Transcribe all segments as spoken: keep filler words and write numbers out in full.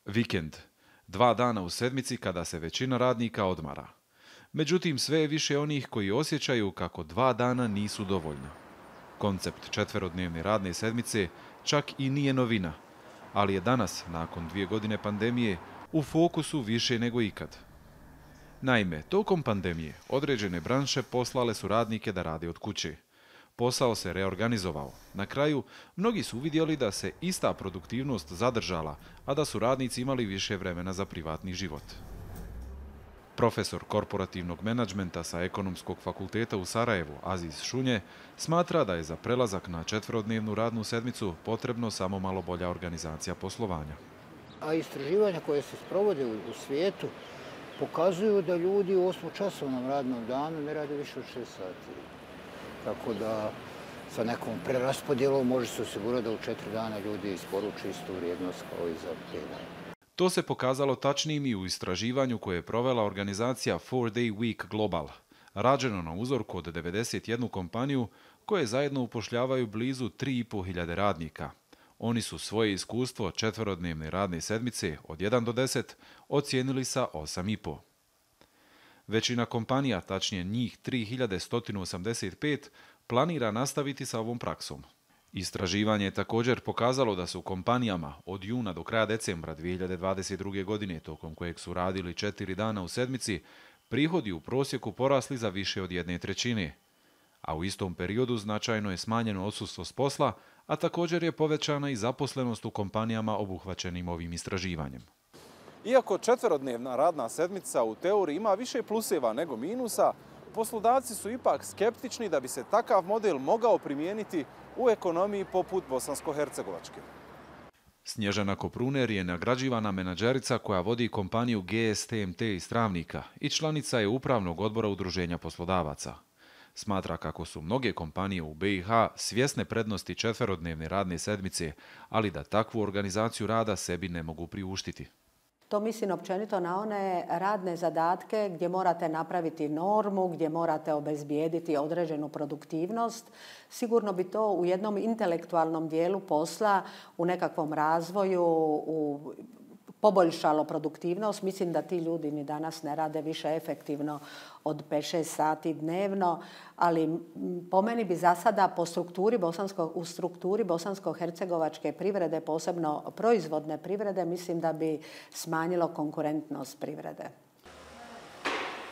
Vikend. Dva dana u sedmici kada se većina radnika odmara. Međutim, sve je više onih koji osjećaju kako dva dana nisu dovoljno. Koncept četverodnevne radne sedmice čak i nije novina, ali je danas, nakon dvije godine pandemije, u fokusu više nego ikad. Naime, tokom pandemije određene branše poslale su radnike da rade od kuće. Posao se reorganizovao. Na kraju, mnogi su uvidjeli da se ista produktivnost zadržala, a da su radnici imali više vremena za privatni život. Profesor korporativnog menadžmenta sa Ekonomskog fakulteta u Sarajevu, Aziz Šunje, smatra da je za prelazak na četverodnevnu radnu sedmicu potrebno samo malo bolja organizacija poslovanja. A istraživanja koje se sprovode u svijetu pokazuju da ljudi u osmočasovnom radnom danu ne rade više od šest sati. Tako da sa nekom preraspodjelom može se osigurati da u četiri dana ljudi isporuče istu vrijednost kao i za pet dana. To se pokazalo tačnim i u istraživanju koje je provela organizacija four day week Global, rađeno na uzorku od devedeset jednu kompaniju koje zajedno upošljavaju blizu tri i pol hiljade radnika. Oni su svoje iskustvo četverodnevne radne sedmice od jedan do deset ocijenili sa osam i pol. Većina kompanija, tačnije njih tri hiljade sto osamdeset pet, planira nastaviti sa ovom praksom. Istraživanje je također pokazalo da su kompanijama od juna do kraja decembra dvije hiljade dvadeset druge. godine, tokom kojeg su radili četiri dana u sedmici, prihodi u prosjeku porasli za više od jedne trećine. A u istom periodu značajno je smanjeno odsustvo s posla, a također je povećana i zaposlenost u kompanijama obuhvaćenim ovim istraživanjem. Iako četverodnevna radna sedmica u teoriji ima više pluseva nego minusa, poslodavci su ipak skeptični da bi se takav model mogao primijeniti u ekonomiji poput Bosansko-Hercegovačke. Snježana Kopruner je nagrađivana menadžerica koja vodi kompaniju G S T M T iz Travnika i članica je upravnog odbora udruženja poslodavaca. Smatra kako su mnoge kompanije u B i H svjesne prednosti četverodnevne radne sedmice, ali da takvu organizaciju rada sebi ne mogu priuštiti. To mislim općenito na one radne zadatke gdje morate napraviti normu, gdje morate obezbijediti određenu produktivnost. Sigurno bi to u jednom intelektualnom dijelu posla, u nekakvom razvoju, u poboljšalo produktivnost. Mislim da ti ljudi ni danas ne rade više efektivno od pet šest sati dnevno, ali po meni bi za sada po strukturi bosansko, u strukturi bosansko-hercegovačke privrede, posebno proizvodne privrede, mislim da bi smanjilo konkurentnost privrede.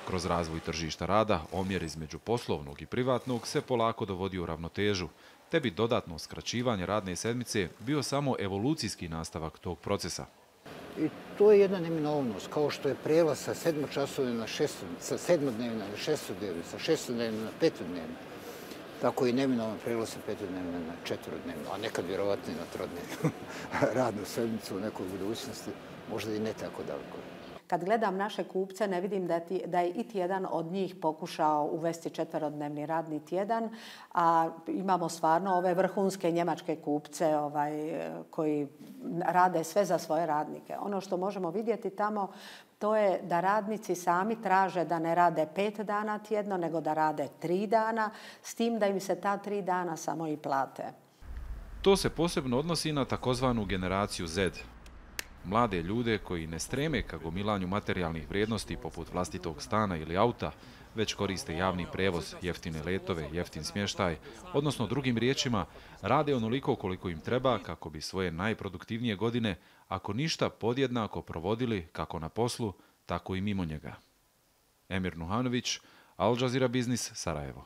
Kroz razvoj tržišta rada, omjer između poslovnog i privatnog se polako dovodi u ravnotežu, te bi dodatno skraćivanje radne sedmice bio samo evolucijski nastavak tog procesa. I to je jedna neminovnost, kao što je prijelaz sa sedmočasovne na šestodnevne, sa sedmodnevne na šestodnevne, sa šestodnevne na petodnevne. Tako i neminovan prijelaz sa petodnevne na četverodnevne, a nekad vjerovatno i na trodnevnu radnu sedmicu u nekoj budućnosti, možda i ne tako daleko. Kad gledam naše kupce, ne vidim da, ti, da je iti jedan od njih pokušao uvesti četverodnevni radni tjedan, a imamo stvarno ove vrhunske njemačke kupce ovaj, koji rade sve za svoje radnike. Ono što možemo vidjeti tamo, to je da radnici sami traže da ne rade pet dana tjedno, nego da rade tri dana, s tim da im se ta tri dana samo i plate. To se posebno odnosi na takozvanu generaciju Z. Mlade ljude koji ne streme ka gomilanju materijalnih vrijednosti poput vlastitog stana ili auta, već koriste javni prevoz, jeftine letove, jeftin smještaj, odnosno drugim riječima, rade onoliko koliko im treba kako bi svoje najproduktivnije godine, ako ništa, podjednako provodili kako na poslu, tako i mimo njega. Emir Nuhanović, Al Jazeera Biznis, Sarajevo.